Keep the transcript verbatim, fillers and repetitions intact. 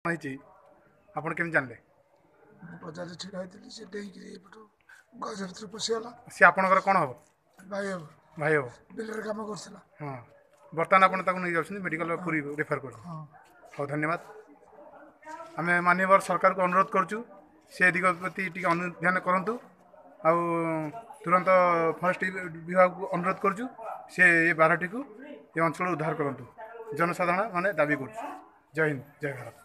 ହେଇଛି ଆପଣ କେମିତି ଜାଣିଲେ? ମୁଁ ବଜାରରେ ଛିଡ଼ା ହେଇଥିଲି, ସେ ଡେଇଁକିରି ଏପଟୁ ଗଛ ଭିତରେ ପଶିଗଲା। ସେ ଆପଣଙ୍କର କ'ଣ ହେବ? ଭାଇ ହେବ। ଭାଇ ହେବ। ବିଲରେ କାମ କରୁଥିଲା। ହଁ, ବର୍ତ୍ତମାନ ଆପଣ ତାକୁ ନେଇଯାଉଛନ୍ତି ମେଡ଼ିକାଲ ପୁରୀ ରେଫର କରୁଛନ୍ତି? ହଁ। ହଉ, ଧନ୍ୟବାଦ। ଆମେ ମାନ୍ୟବର ସରକାରକୁ ଅନୁରୋଧ କରୁଛୁ, ସେ ଦିଗ ପ୍ରତି ଟିକେ ଅନୁଧ୍ୟାନ କରନ୍ତୁ, ଆଉ ତୁରନ୍ତ ଫରେଷ୍ଟ ବିଭାଗକୁ ଅନୁରୋଧ କରୁଛୁ, ସେ ଏ ବାରଟିକୁ ଏ ଅଞ୍ଚଳରୁ ଉଦ୍ଧାର କରନ୍ତୁ। ଜନସାଧାରଣ ମାନେ ଦାବି କରୁଛୁ। ଜୟ ହିନ୍ଦ, ଜୟ ଭାରତ।